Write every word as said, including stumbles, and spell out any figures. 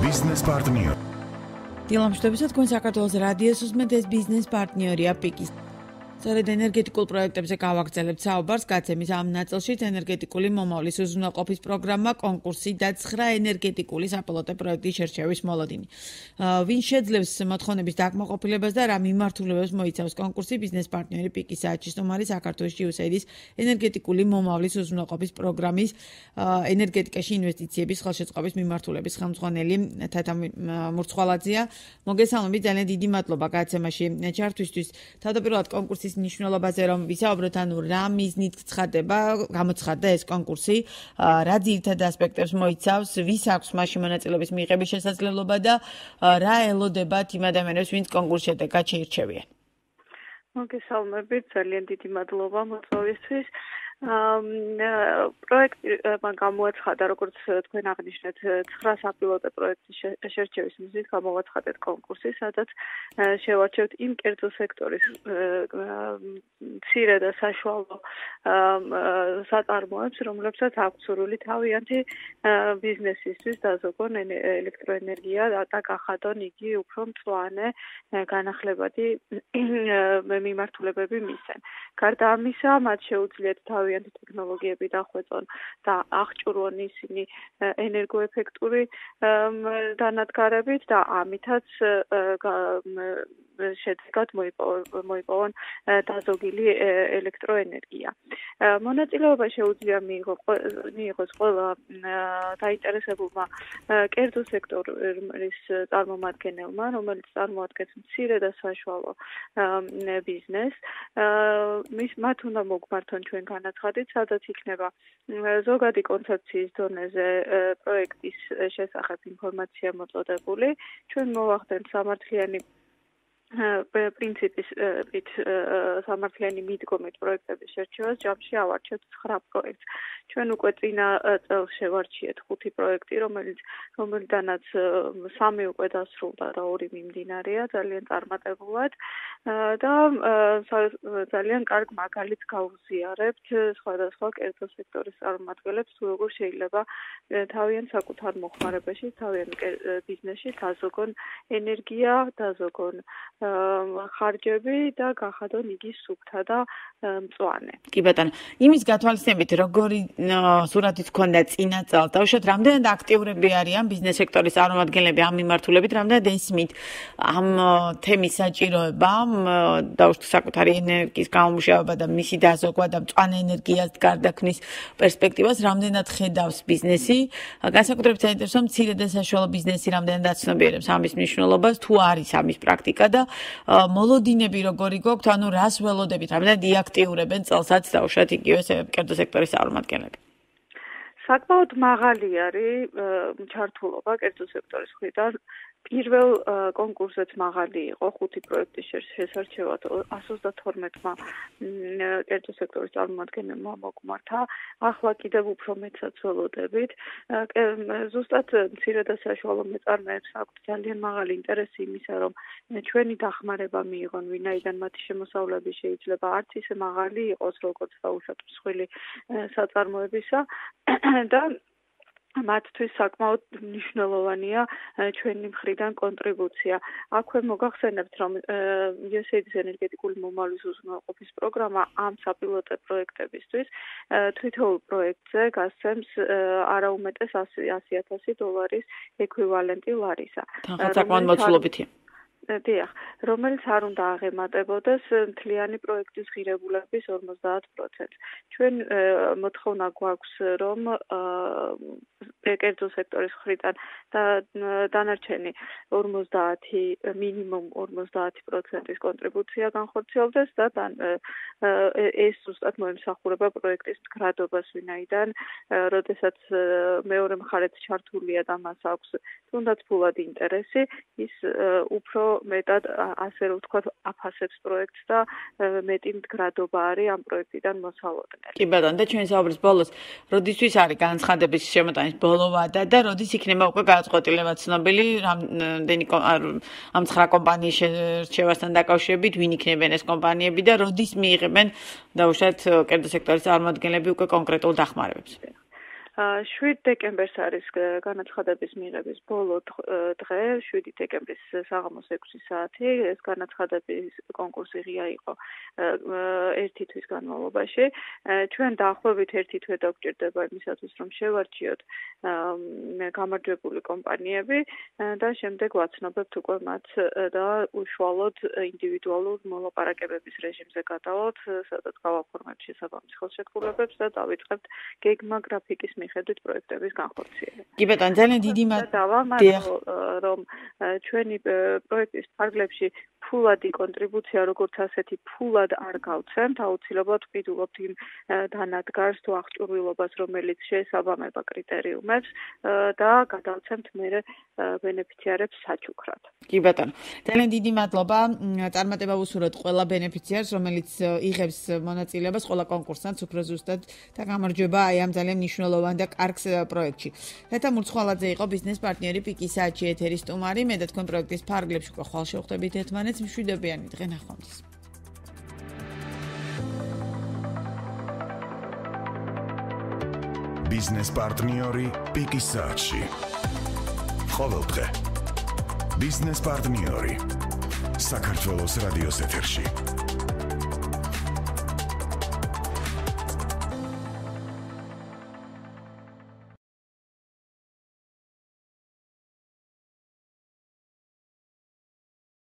Business partner. დილამშვიდობისა თქვენ საქართველოს რადიოს უსმენთ ეს ბიზნეს პარტნიორია პიკის. სწორედ ენერგეტიკულ პროექტებზე გავაგრძელებთ საუბარს გაცემის ამ ნაწილშიც ენერგეტიკული მომავლის უზრუნველყოფის პროგრამა, კონკურსი და ცხრა ენერგეტიკული საპილოტო პროექტის შერჩევის მოლოდინი. ვინ შეძლებს მოთხოვნების დაკმაყოფილებას და რა მიმართულებებს მოიცავს კონკურსი ბიზნეს პარტნიორი პიკის საათში სტუმარი საქართველოს იუსაიდის ენერგეტიკული მომავლის უზრუნველყოფის პროგრამის ენერგეტიკაში ინვესტიციების ხელშეწყობის მიმართულების ხელმძღვანელი თათა მურცხვალაძეა. მოგესალმებით, ძალიან დიდი მადლობა გაცემაში ჩართვისთვის. თავდაპირველად კონკურსის ნიშნულობაზე რომ ვისაუბროთ, ანუ რა მიზნით ცხადდება, გამოცხადდა ეს კონკურსი, რა ძირითად ასპექტებს მოიცავს, ვის აქვს მასში მონაწილეობის მიღების შესაძლებლობა და რა ელოდებათ იმ ადამიანებს, ვინც კონკურსის შედეგად შეირჩევიან. მოგესალმებით, ძალიან დიდი მადლობა მოწვევისთვის. პროექტმა გამოაცხადა, როგორც თქვენ აღნიშნეთ, ცხრა საპილოტო პროექტის შერჩევის მიზნით გამოაცხადეთ კონკურსი, სადაც შევარჩევთ იმ კერძო სექტორის მცირე და საშუალო საწარმოებს, რომლებსაც აქვს სურვილი თავიანთი ბიზნესისთვის დაზოგონ ელექტროენერგია და გახადონ იგი უფრო მწვანე განახლებადი მიმართულებები მისცენ. გარდა ამისა, მათ შეუძლიათ თავიანთი ტექნოლოგიები დახვეწონ და აღჭურვონ ისინი ენერგოეფექტური დანადგარებით და ამითაც შედეგად მოიპოვონ დაზოგილი ელექტროენერგია. მონაწილეობა შეუძლია მიიღოს ყველა დაინტერესებულმა კერძო სექტორის წარმომადგენელმა, რომელიც წარმოადგენს მცირე და საშუალო ბიზნესს. მის მათ უნდა მოგმართონ ჩვენ განაცხადით, სადაც იქნება ზოგადი კონცეფციის დონეზე პროექტის შესახებ ინფორმაცია მოწოდებული. ჩვენ მოვახდენთ სამართლიანი პრინციპით სამართლიანი მიდგომით პროექტების შერჩევას, ჯამში ავარჩევთ ცხრა პროექტს. ჩვენ უკვე წინა წელს შევარჩიეთ ხუთი პროექტი, რომელიც რომელიდანაც სამი უკვე დასრულდა და ორი მიმდინარეა, ძალიან წარმატებულად და ძალიან კარგ მაგალითს გავუზიარებთ სხვადასხვა კერძო სექტორის წარმომადგენლებს, თუ როგორ შეიძლება თავიანთ საკუთარ მოხმარებაში, თავიანთ ბიზნესში დაზოგონ ენერგია, დაზოგონ ხარჯები და გახადონ იგი სუფთა და მწვანე. კი ბატონო, იმის გათვალისწინებით, როგორი სურათიც ჰქონდა წინა წელს, დავუშვათ, რამდენად აქტიურები არიან ბიზნეს სექტორის წარმომადგენლები ამ მიმართულებით, რამდენად ესმით ამ თემის საჭიროებამ, დავუშვათ, საკუთარი ენერგიის გამომუშავება და მისი დაზოგვა და მწვანე ენერგიას გარდაქმნის პერსპექტივას, რამდენად ხედავს ბიზნესი, განსაკუთრებით საინტერესოა მცირე და საშუალო ბიზნესი რამდენად აცნობიერებს ამის მნიშვნელობას, თუ არის ამის პრაქტიკა და მოლოდინები როგორი გვაქვთ, ანუ რას ველოდებით, რამდენად იაქტიურებენ წელსაც დავუშვათ იგივე კერძო სექტორის წარმომადგენლები. საკმაოდ მაღალი არის ჩართულობა კერძო სექტორის მხრიდან. პირველ კონკურსზეც მაღალი იყო ხუთი პროექტის შესარჩევად εκατს ოცდათორმეტმა კერძო სექტორის წარმომადგენელმა მოგმართა. ახლა კიდევ უფრო მეტსაც ველოდებით. ზუსტად მცირე და საშუალო მეწარმეებს აქვთ ძალიან მაღალი ინტერესი იმისა, რომ ჩვენი დახმარება მიიღონ, ვინაიდან მათი შემოსავლები შეიძლება არც ისე მაღალი იყოს, როგორც დაუშვათ მსხვილი საწარმოებისა და მათთვის საკმაოდ მნიშვნელოვანია ჩვენი მხრიდან კონტრიბუცია. აქვე მოგახსენებთ, რომ იუსაიდის ენერგეტიკული მომავლის უზრუნველყოფის პროგრამა ამ საპილოტო პროექტებისთვის თითოეულ პროექტზე გასცემს არაუმეტეს ასი ათასი დოლარის ექვივალენტი ლარისა. საკმაოდ მოცულობითია. დიახ, რომელიც არ უნდა აღემატებოდეს მთლიანი პროექტის ღირებულების ორმოცდაათ პროცენტს. ჩვენ მოთხოვნა გვაქვს, რომ კერძო სექტორის მხრიდან და დანარჩენი ორმოცდაათი მინიმუმ ორმოცდაათი პროცენტის კონტრიბუცია განხორციელდეს და ეს ზუსტად მოემსახურება პროექტის მდგრადობას, ვინაიდან როდესაც მეორე მხარეც ჩართულია და მას აქვს თუნდაც ფულად ინტერესი, ის უფრო მეტად ასე რომ ვთქვათ აფასებს პროექტს და მეტი მდგრადობა არის ამ პროექტიდან მოსალოდნელი. კი ბატონო, და ჩვენი საუბრის ბოლოს, როდისთვის არის განცხადების შემოტანის ბოლო ვადა და როდის იქნება უკვე გადაწყვეტილება ცნობილი რამდენი ამ ცხრა კომპანიის შერჩევასთან დაკავშირებით, ვინ იქნებიან ეს კომპანიები და როდის მიიღებენ დაუშვათ კერძო სექტორის წარმომადგენლები უკვე კონკრეტულ დახმარებებს? შვიდ დეკემბერს არის განაცხადების მიღების ბოლო დღე, შვიდი დეკემბრის საღამოს ექვსი საათი. ეს განაცხადების კონკურსი ღია იყო ერთი თვის განმავლობაში. ჩვენ დაახლოებით ერთი თვე დაგვჭირდება იმისათვის, რომ შევარჩიოთ გამარჯვებული კომპანიები და შემდეგ ვაცნობებთ უკვე მათ და უშუალოდ ინდივიდუალურ მოლაპარაკებების რეჟიმზე გადავალთ, სადაც გავაფორმებთ შესაბამის ხელშეკრულებებს და დავიწყებთ გეგმა გრაფიკის მიხედვით პროექტების განხორციელება. კი ბატონო, ძალიან დიდი მადლობა, რომ ჩვენი პროექტის ფარგლებში ფულადი კონტრიბუცია როგორც ასეთი ფულად არ გავცემთ, აუცილებლად ვყიდულობთ იმ დანადგარს თუ აღჭურვილობას, რომელიც შეესაბამება კრიტერიუმებს და გადავცემთ მერე ბენეფიციარებს საჩუქრად. კი ბატონო, ძალიან დიდი მადლობა. წარმატება ვუსურვოთ ყველა ბენეფიციარს, რომელიც იღებს მონაწილეობას ყველა კონკურსანტს უფრო ზუსტად და გამარჯვება აი ამ ძალიან მნიშვნელოვან და კარგ პროექტში. ლეთა მურცხვალაძე იყო ბიზნეს პარტნიორი პიკის საათში ეთერის სტუმარი. მე და თქვენ პროექტის ფარგლებში უკვე ხვალ შევხვდებით ერთმანეთს. მშვიდობიანი დღე, ნახვამდის. ბიზნეს პარტნიორი პიკის საათში. ყოველ დღე ბიზნეს პარტნიორი საქართველოს რადიოს ეთერში.